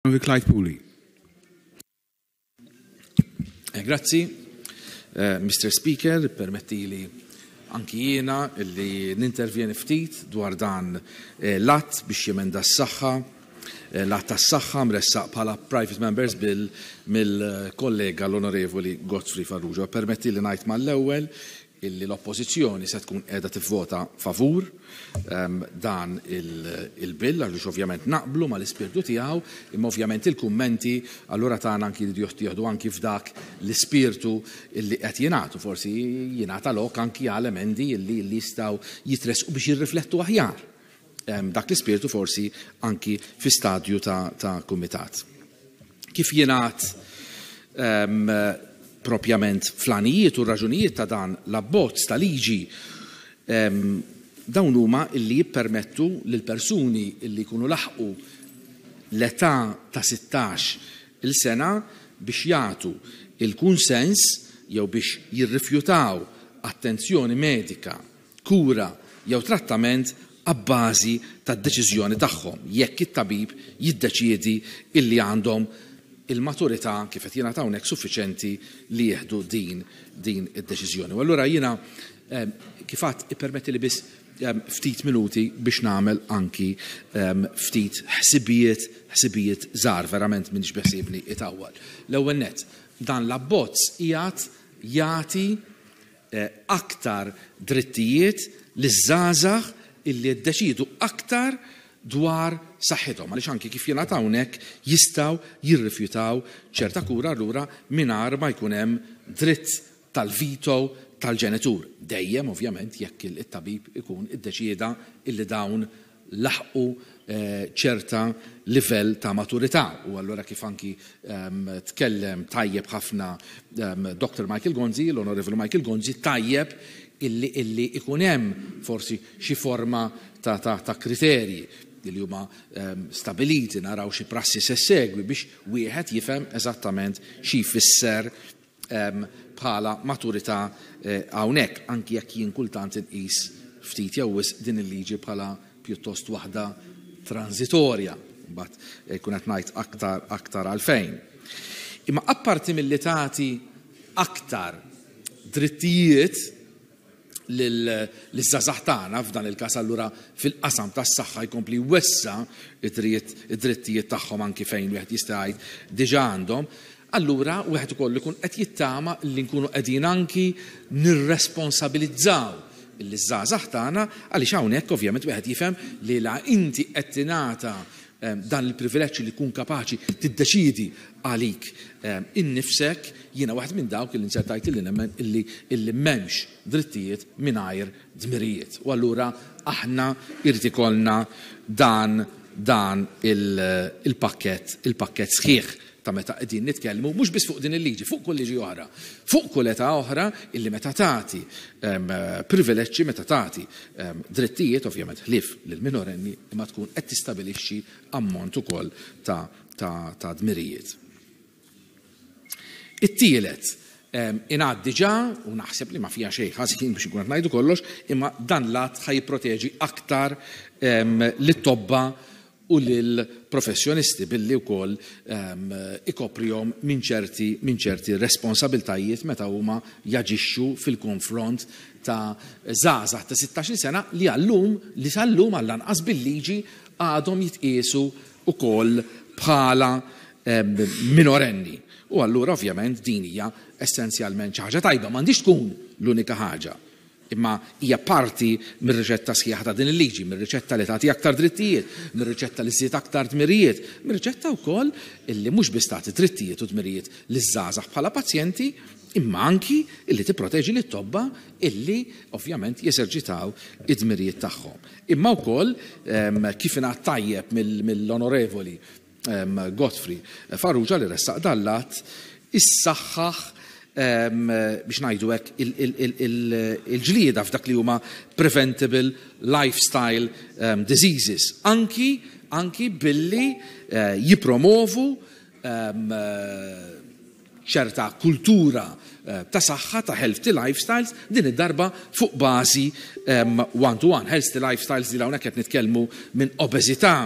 Clyde Puli. Grazzi, Mr. Speaker, permettili anki jiena illi nintervjeni ftit dwar dan l-att biex jemenda s-saħħa, l-att tas-saħħa mressaq bħala Private Members Bill mill-kollega l-Onorevoli Godfrey Farrugia. Permettili ngħid mal-ewwel illi l-Oppożizzjoni se tkun qiegħda tivvota favur dan il-bill għaliex ovvjament naqblu mal-ispirtu tiegħu, imma ovvjament il-kummenti allura tagħna anki jridu jittieħdu anki f'dak l-ispirtu illi qed jingħad u forsi jingħata lok anki għal emendi illi jistgħu jitressqu biex jirriflettu aħjar dak l-ispirtu forsi anki fi stadju ta' kumitat. Kif jingħad propjament fl-għanijiet u r-raġunijiet ta' dan l-abbozz ta' liġi, dawn huma illi jippermettu lil persuni illi jkunu laħqu l-età ta' 16-il sena biex jagħtu il-kunsens jew biex jirrifjutaw attenzjoni medika, kura jew trattament abbażi tad-deċiżjoni tagħhom jekk it-tabib jiddeċiedi illi għandhom il-maturità, kif qed jingħad hawnhekk, suffiċenti li jieħdu din din id-deċiżjoni. U allura jiena, kif għadt, ippermettili biss ftit minuti biex nagħmel anki ftit ħsibijiet ħsibijiet żgħar, verament m'iniex beħsiebni itawwal. L-ewwel nett, dan l-abbozz qiegħed jagħti aktar drittijiet liż-żgħażagħ illi jiddeċiedu aktar dwar saħħithom, għaliex anki kif jingħad hawnhekk jistgħu jirrifjutaw ċerta kura allura mingħajr ma jkun hemm dritt tal-veto tal-ġenitur, dejjem ovvjament jekk it-tabib ikun iddeċieda illi dawn laħqu ċerta livell ta' maturità. U allura kif anki tkellem tajjeb ħafna Dr. Michael Gonzi, l-Onorevoli Michael Gonzi, tajjeb illi ikun hemm forsi xi forma ta' kriterji li huma stabiliti, naraw xi prassi se segwi biex wieħed jifhem eżattament xi jfisser bħala maturità hawnhekk, anki jekk jien kultant inqis ftit jew wisq din il-liġi bħala pjuttost waħda transitorja. Mbagħad jkun qed ngħid aktar aktar għalfejn. Imma apparti milli tagħti aktar drittijiet liż-żgħażagħ tagħna, f'dan il-każ allura fil-qasam tas-saħħa jkompli jwessa' id-drittijiet tagħhom anki fejn wieħed jista' jgħid diġà għandhom, allura wieħed ukoll ikun qed jittama li nkunu qegħdin anki nirresponsabilizzaw liż-żgħażagħ tagħna, għaliex hawnhekk ovvjament wieħed jifhem li la inti qed tingħata dan il-privileġġ li tkun kapaċi tiddeċiedi għalik innifsek, jiena waħed minn dawk li nsertajt illi nemmen illi illi m'hemmx drittijiet mingħajr dmirijiet. U allura aħna jrid ikollna dan dan il-pakkett il-pakkett sħiħ ta' meta qegħdin nitkellmu mhux biss fuq din il-liġi, fuq kull liġi oħra, fuq kull età oħra illi meta tagħti privileġġi, meta tagħti drittijiet, ovvjament ħlief lill-minorenni, imma tkun qed tistabilixxi ammont ukoll ta' ta' ta' dmirijiet. It-tielet, ingħad diġà, u naħseb li ma fiha xejn ħażin biex inkun qed ngħidu kollox, imma dan l-att ħa jipproteġi aktar lit-tobba u lill-professjonisti billi wkoll ikoprihom minn ċerti minn ċerti responsabiltajiet meta huma jaġixxu fil-konfront ta' żgħażagħ ta' 16-il sena li għal-lum, li sal-lum għall-anqas bil-liġi għadhom jitqiesu wkoll bħala minorenni. U allura ovvjament din hija essenzjalment xi ħaġa tajba, m'għandhiex tkun l-unika ħaġa. Imma hija parti mir-riċetta sħiħa ta' din il-liġi, mir-riċetta li tagħti aktar drittijiet, mir-riċetta li żżid aktar dmirijiet, mir-riċetta wkoll illi mhux biss tagħti drittijiet u dmirijiet liż-żgħażagħ bħala pazjenti, imma anki illi tipproteġi lit-tobba illi ovvjament jeżerċitaw id-dmirijiet tagħhom. Imma wkoll, kif ingħad tajjeb mill-Onorevoli Godfrey Farrugia li ressaq dan l-att, issaħħaħ biex ngħidu hekk il-ġlieda f'dak li huma preventable lifestyle diseases, anki anki billi jippromovu ċerta kultura ta' saħħa, ta' healthy lifestyles, din id-darba fuq bażi one to one. Healthy lifestyles li hawnhekk qed nitkellmu minn obeżità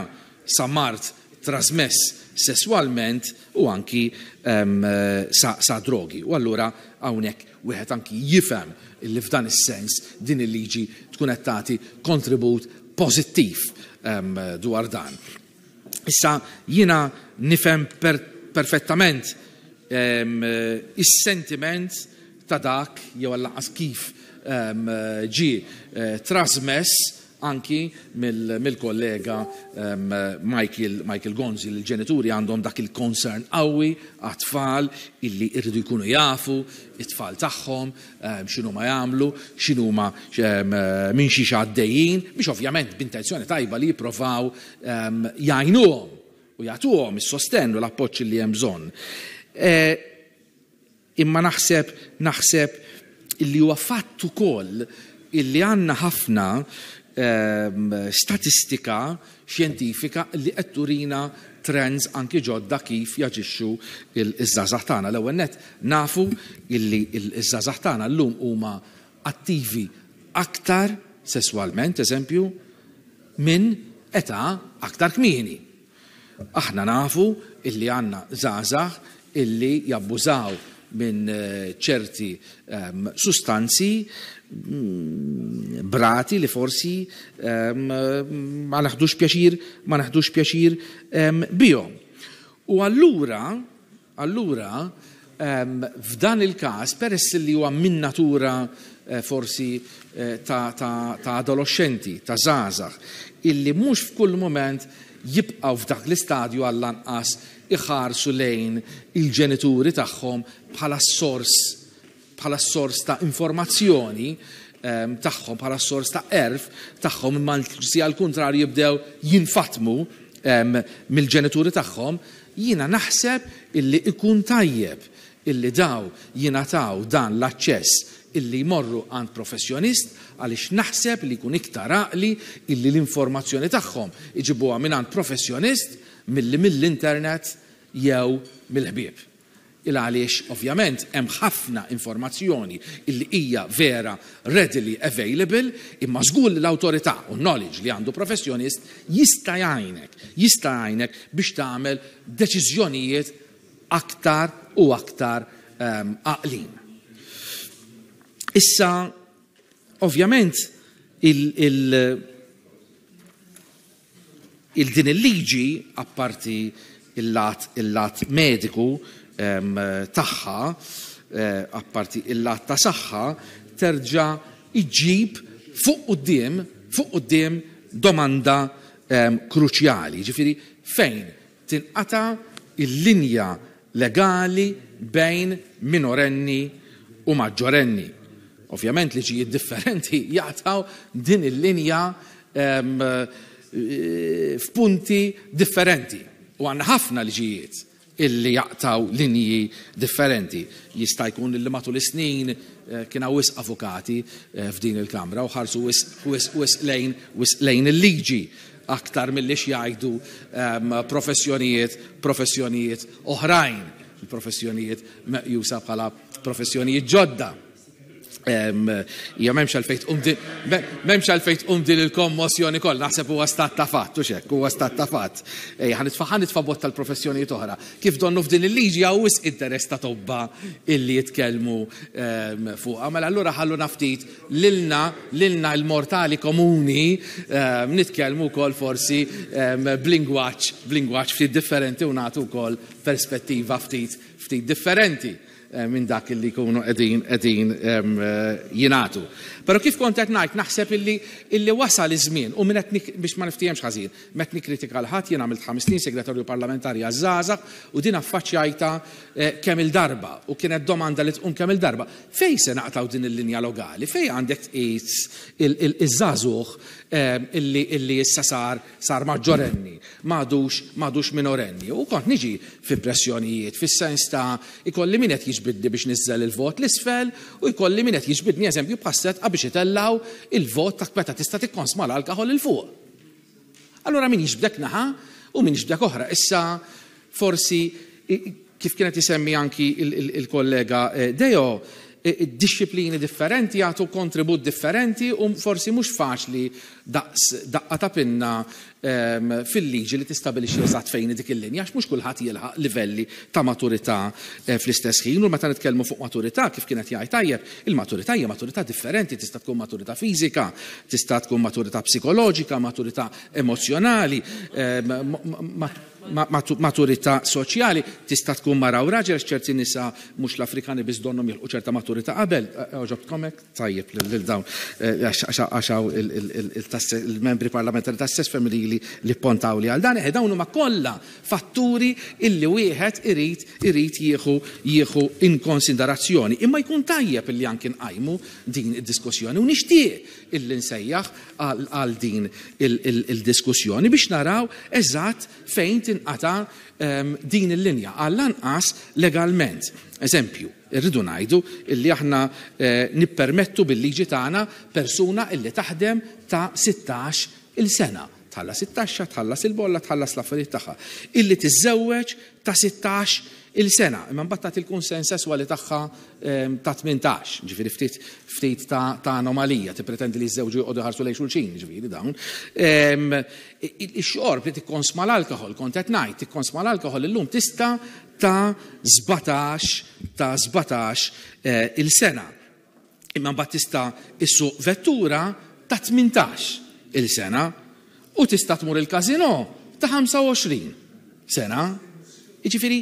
sa mard trasmess sesswalment u anki sa drogi. U allura hawnhekk wieħed anki jifhem li f'dan is-sens din il-liġi tkun qed tagħti kontribut pożittiv dwar dan. Issa jiena nifhem perfettament is-sentiment ta' dak jew għall-anqas kif ġie trasmess anki mill-kollega Michael, Michael Gonzi li l-ġenituri għandhom dak il-concern qawwi għat-tfal illi rridu jkunu jafu it-tfal tagħhom x'inhuma jagħmlu, x'inhuma minn xiex għaddejjin, biex ovvjament b'intenzjoni tajba li jipprovaw jgħinuhom u jagħtuhom is-sostenn u l-appoġġ li hemm bżonn. Imma naħseb naħseb illi huwa fatt ukoll illi għandna ħafna statistika xjentifika li qed turina trends anki ġodda kif jaġixxu iż-żgħażagħ tagħna. L-ewwel nett nafu illi ż-żgħażagħ tagħna llum huma attivi aktar sesswalment, eżempju, minn età aktar kmieni. Aħna nafu illi għandna żgħażagħ illi jabbużaw minn ċerti sustanzi brati li forsi ma naħdux pjaċir ma naħdux pjaċir bihom. U allura allura f'dan il-każ peress li huwa minn natura forsi ta' ta' ta' adoloxxenti, ta' żgħażagħ, illi mhux f'kull mument jibqgħu f'dak l-istadju għall-anqas iħarsu lejn il-ġenituri tagħhom bħala s-sors bħala s-sors ta' informazzjoni tagħhom, bħala s-sors ta' għerf tagħhom, imma anzi għall-kuntrarju jibdew jinfatmu mill-ġenituri tagħhom, jiena naħseb illi ikun tajjeb illi daw jingħataw dan l-aċċess illi jmorru għand professjonist għaliex naħseb li jkun iktar għaqli illi l-informazzjoni tagħhom iġibuha mingħand professjonist milli mill-internet jew mill-ħbieb. Il għaliex ovvjament hemm ħafna informazzjoni illi hija vera readily available imma żgur li l-awtorità u knowledge li għandu professjonist jista' jgħinek, jista' jgħinek biex tagħmel deċiżjonijiet aktar u aktar għaqlin. Issa, ovvjament, il, il, il din il-liġi, apparti il-lat il-lat mediku tagħha, apparti il-lat ta' saħħa, terġa' iġġib fuq quddiem fuq quddiem domanda kruċjali, jiġifieri fejn tinqata' l-linja legali bejn minorenni u maġġorenni. Ovvjament liġijiet differenti jaqtgħu din il-linja f'punti differenti. U għandna ħafna liġijiet illi jaqtgħu linji differenti. Jista' jkun illi matul is-snin kien hawn wisq avukati f'din il-Kamra u ħarsu wisq wisq wisq lejn wisq lejn il-liġi aktar milli x'jgħidu professjonijiet professjonijiet oħrajn, il-professjonijiet meqjusa bħala professjonijiet ġodda. Hija m'hemmx għalfejn tqum din m'hemmx għalfejn tqum din il-kommossjoni kollha, naħseb huwa stat ta' fatt, hux hekk, huwa stat ta' fatt. Ejja, ħa nitfa' ħa nitfa' botta l-professjonijiet oħra. Kif donnu f'din il-liġi hawn wisq interess ta' tobba illi jitkellmu fuqha. Mela allura ħalluna ftit lilna, lilna l-mortali komuni nitkellmu wkoll forsi b'lingwaġġ, b'lingwaġġ ftit differenti u nagħtu wkoll perspettiva ftit ftit differenti. Minn dak li jkunu qegħdin qegħdin jingħatu. Però kif kont qed ngħid naħseb illi illi wasal iż-żmien u min qed biex ma niftihemx ħażin, m'qed nikkritika 'l ħadd, jien għamilt ħames snin segretarju parlamentari għaż-żgħażagħ u din affaċċjajtha kemm-il darba u kienet domanda li tqum kemm-il darba. Fejn se naqtgħu din il-linja logali? Fejn għandek tqis iż-żagħżugħ illi illi issa sar sar maġġorenni, m'għadux m'għadux minorenni. U kont niġi fi pressjonijiet, fis-sens ta' ikolli min qed jiġbidni biex niżżel il-vot 'l isfel u jkolli min qed jiġbidni eżempju bħas-Sedqa biex itellgħu il-vot ta' meta tista' tikkonsma l-alkoħol 'il fuq. Allura min jiġbdek naħa u min jiġbdek oħra. Issa forsi kif kien qed isemmi anki il-kollega Deo, dixxiplini differenti jagħtu kontribut differenti u forsi mhux faċli daqs daqqa ta' pinna fil-liġi li tistabilixxi eżatt fejn hi dik il-linja għax mhux kulħadd jilħaq livelli ta' maturità fl-istess ħin u meta nitkellmu fuq maturità kif kien qed jgħid tajjeb, il-maturità hija maturità differenti, tista' tkun maturità fiżika, tista' tkun maturità psikoloġika, maturità emozzjonali, Maturità soċjali tista' tkun mara u raġel għax ċerti nisa mhux l-Afrikani biss donnhom jilħqu ċerta maturità qabel. Għoġobtkom hekk? Tajjeb lil dawn għax hawn il-membri parlamentari tas-sess femminili li ppontawli għal dan. Eħe dawn huma kollha fatturi illi wieħed irid irid jieħu jieħu in konsiderazzjoni. Imma jkun tajjeb illi anki nqajmu din id-diskussjoni u nixtieq illi nsejjaħ għal din il-diskussjoni biex naraw eżatt fejn tinqata' din il-linja, għall-anqas legalment. Eżempju, irridu ngħidu illi aħna nippermettu bil-liġi tagħna persuna illi taħdem ta' 16 il sena, tħallas it-taxxa, tħallas il-bolla, tħallas l-affarijiet tagħha, illi tiżżewweġ ta' 16 il sena, imma mbagħad tagħti l-kunsens sesswali tagħha ta' 18, ġifieri ftit ftit ta' ta' anomalija, tippretendi li jiżżewġu joqogħdu jħarsu lejn xulxin, ġifieri dawn. Ix-xorb li tikkonsma l-alkoħol, kont qed ngħid, tikkonsma l-alkoħol illum tista' ta' 17 ta' 17 il sena. Imma mbagħad tista' issuq vettura ta' 18 il sena u tista' tmur il-każinò ta' 25 sena. Jiġifieri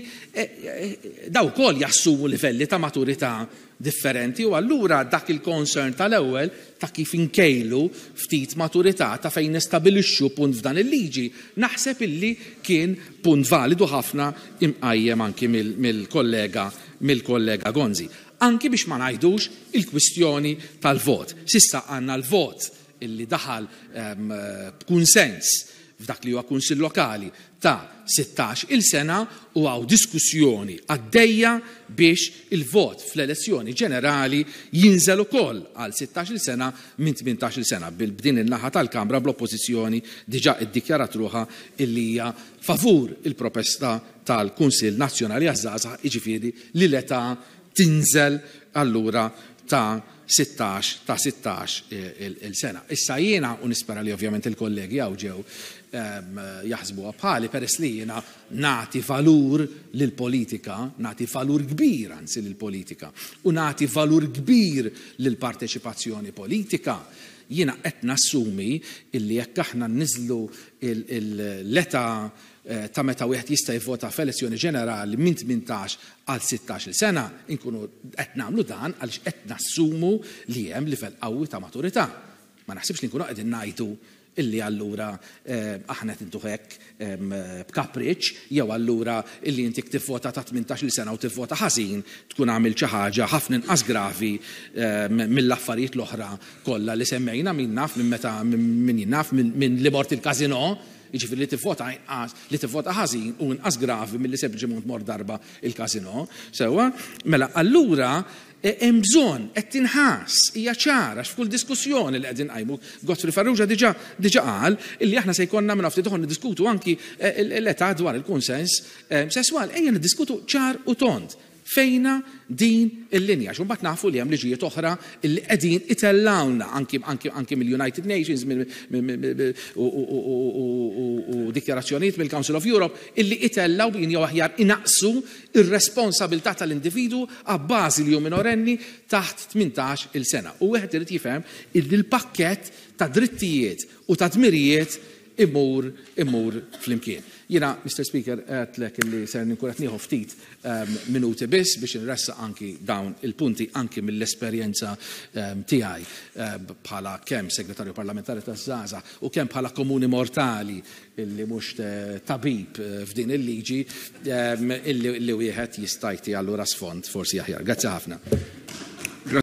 dawn ukoll jassumu livelli ta' maturità differenti u allura dak il-concern tal-ewwel ta' kif inkejlu ftit maturità ta' fejn nistabilixxu punt f'dan il-liġi naħseb illi kien punt validu ħafna imqajjem anki mill-kollega mill-kollega Gonzi. Anki biex ma ngħidux il-kwistjoni tal-vot. S'issa għandna l-vot illi daħal b'kunsens f'dak li huwa Kunsill Lokali ta' 16 il sena u hawn diskussjoni għaddejja biex il-vot fl-elezzjoni ġenerali jinżel ukoll għal 16 il sena minn 18 il sena. B'din in-naħa tal-Kamra bl-Oppożizzjoni diġà iddikjarat ruħha illi hija favur il-propesta tal-Kunsill Nazzjonali għaż-Żgħażagħ, jiġifieri li l-età tinżel allura ta' 16 ta' 16 il sena. Issa jiena, u nispera li ovvjament il-kollegi hawn ġew jaħsbuha bħali, peress li jiena nagħti valur lill-politika, nagħti valur kbir anzi lill-politika, u nagħti valur kbir lill-parteċipazzjoni politika, jiena qed nassumi illi jekk aħna nniżżlu l-età ta' meta wieħed jista' jivvota f'elezzjoni ġenerali minn 18 għal 16-il sena, inkunu qed nagħmlu dan għaliex qed nassumu li hemm livell qawwi ta' maturità. Ma naħsibx li nkunu qegħdin ngħidu illi allura aħna qed intuh hekk b'kapriċċ jew allura illi inti jekk tivvota ta' 18-il sena u tivvota ħażin tkun għamilt xi ħaġa ħafna inqas gravi mill-affarijiet l-oħra kollha li semmejna, min naf minn meta min jien naf minn li mort il-każinò. Jiġifieri li tivvota inqas, li tivvota ħażin hu inqas gravi milli sempliċement mort darba il-każinò. Sewwa? Mela allura hemm bżonn, qed tinħass, hija ċara għax f'kull diskussjoni li qegħdin nqajmu, Godfrey Farrugia diġà diġà qal illi aħna se jkollna minn ftit ieħor niddiskutu anki l-età dwar il-kunsens sesswali. Ejja niddiskutu ċar u tond. Fejnha din il-linja? Għax imbagħad nafu li hemm liġijiet oħra li qegħdin itellgħulna anki anki anki mill-United Nations u dikjarazzjonijiet mill-Council of Europe illi itellgħu b'in jew aħjar inaqqsu r-responsabilità tal-individwu abbażi li hu minorenni taħt 18-il sena. U wieħed irid jifhem illi l-pakkett ta' drittijiet u ta' dmirijiet imur imur flimkien. Jiena, Mister Speaker, għedtlek illi ser nkun qed nieħu ftit minuti biss biex inressaq anki dawn il-punti anki mill-esperjenza tiegħi bħala kemm Segretarju Parlamentari taż-Żgħażagħ u kemm bħala komuni mortali illi mhux tabib f'din il-liġi illi wieħed jista' jti allura sfond forsi aħjar. Grazzi ħafna.